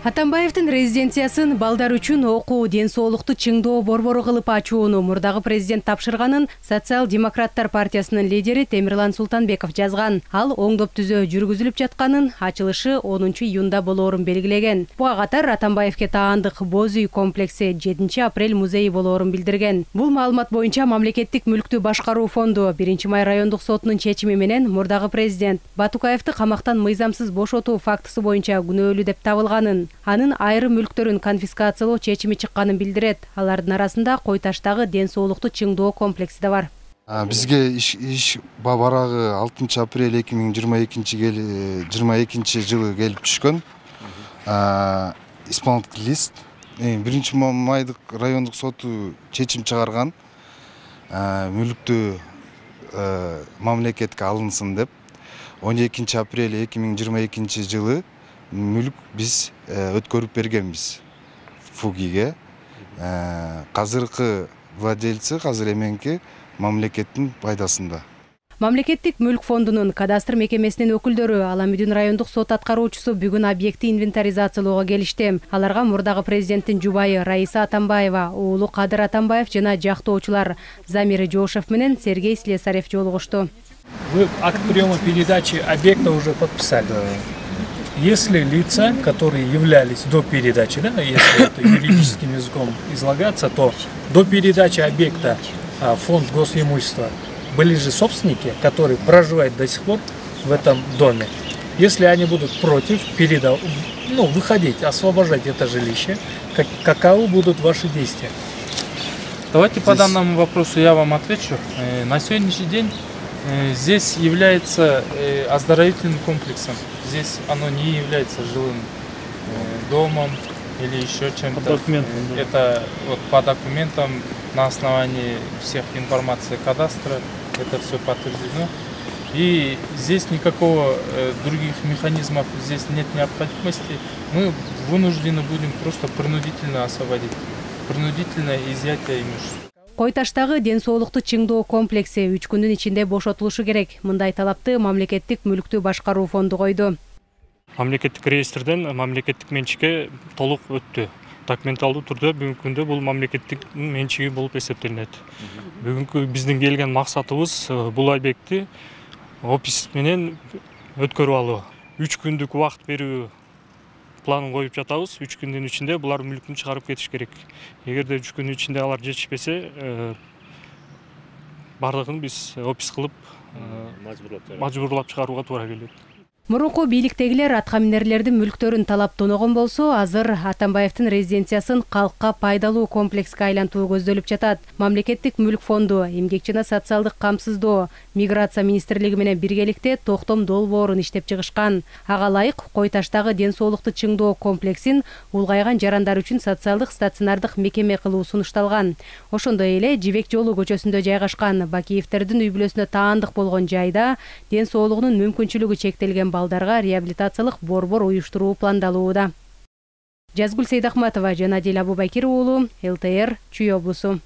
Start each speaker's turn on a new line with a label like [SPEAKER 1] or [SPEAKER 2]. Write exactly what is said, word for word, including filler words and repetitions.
[SPEAKER 1] Атамбаевдин резиденциясын балдар үчүн окуу, ден соолукту чыңдоо борбору кылып ачууну мурдагы президент тапшырганын Социал-демократтар партиясынын лидери Темирлан Султанбеков жазган. Ал оңдоп түзөө жүргүзүлүп жатканын, ачылышы онунчу июнда болоорун белгилеген. Буга катар Атамбаевге таандык Боз үй комплекси жетинчи апрель музейи болоорун билдирген. Бул маалымат боюнча Мамлекеттик мүлктү башкаруу фонду биринчи май райондук сотунун чечими менен мурдагы президент Батукаевди камактан мыйзамсыз бошотуу фактысы боюнча күнөөлүү деп табылганын, анын айрым мүлктөрүн конфискациялоо чечими чыкканын билдирет. Алардын арасында Кой таштагы ден соолукту чыңдоо комплекси да бар.
[SPEAKER 2] Бизге иш, иш барагы алтынчы апрель эки миң жыйырма экинчи жылы келип түшкөн. Исполнительный лист биринчи майдык райондук соту чечим чыгарган. Мүлктү мамлекетке алынсын деп. он экинчи апрель эки миң жыйырма экинчи жылы мүлк биз өткөрүп бергенбиз ФУГИге. Казыркы владельцы азыр эменки мамлекеттин пайдасында.
[SPEAKER 1] Мамлекеттик мүлк фондунун кадастр мекемесинин өкүлдөрү Аламүдүн райондук сот аткаруучусу бүгүн объекти инвентаризациялоого келишти. Аларга мурдагы президенттин жубайы Раиса Атамбаева, уулу Кадыр Атамбаев жана жактоочулар Замир Жошев менен Сергей Слесарев жолугушту.
[SPEAKER 3] Вы акт приема передачи объекта уже подписали. Если лица, которые являлись до передачи, да, если это юридическим языком излагаться, то до передачи объекта а, фонд госимущества были же собственники, которые проживают до сих пор в этом доме. Если они будут против передав... ну, выходить, освобождать это жилище, как... каковы будут ваши действия?
[SPEAKER 4] Давайте Здесь... по данному вопросу я вам отвечу. На сегодняшний день здесь является оздоровительным комплексом. Здесь оно не является жилым домом или еще чем-то. Это вот по документам на основании всех информации кадастра это все подтверждено. И здесь никакого других механизмов здесь нет необходимости. Мы вынуждены будем просто принудительно освободить, принудительное изъятие имущества.
[SPEAKER 1] Кой таштагы ден соолукту чыңдоо комплекси үч күндүн ичинде бошотулушу керек. Мындай талапты Мамлекеттик мүлктү башкаруу фонду койду.
[SPEAKER 5] Мамлекеттик реестрден мамлекеттик менчикке толук өттү. Документалдуу түрдө бүгүнкү күндө бул мамлекеттик менчиги болуп эсептелинет. Бүгүнкү биздин келген максатыбыз бул объектти опис менен өткөрүп алуу. үч күндүк убакыт берүү планын коюп жатабыз. үч күндүн ичинде булар мүлкүн чыгарып кетиш керек. Эгерде үч күндүн ичинде алар жетишпесе, бардыгын биз опис кылып мажбурлап чыгарууга туура келет.
[SPEAKER 1] Мурунку бийликтегилер аткаминерлердин мүлктөрүн талап тоногон болсо, азыр Атамбаевдин резиденциясын калкка пайдалуу комплекске айлантуу көздөлүп жатат. Мамлекеттик мүлк фонду, эмгек жана социалдык камсыздоо, миграция министрлиги менен биргеликте токтом долбоорун иштеп чыгышкан. Ага ылайык Кой таштагы ден соолукту чыңдоо комплексин улгайган жарандар үчүн социалдык стационардык мекеме кылуу сунушталган. Ошондой эле Жибек жолу көчөсүндө жайгашкан Бакиевтердин үй бүлөсүнө таандык болгон жайда ден соолугунун мүмкүнчүлүгү чектелген балдарга реабилитациялык борбор уюштуруу пландалууда. Жазгүл Сейдахматова жана Дил Абубакир уулу, эл тэ эр Чүй облусу.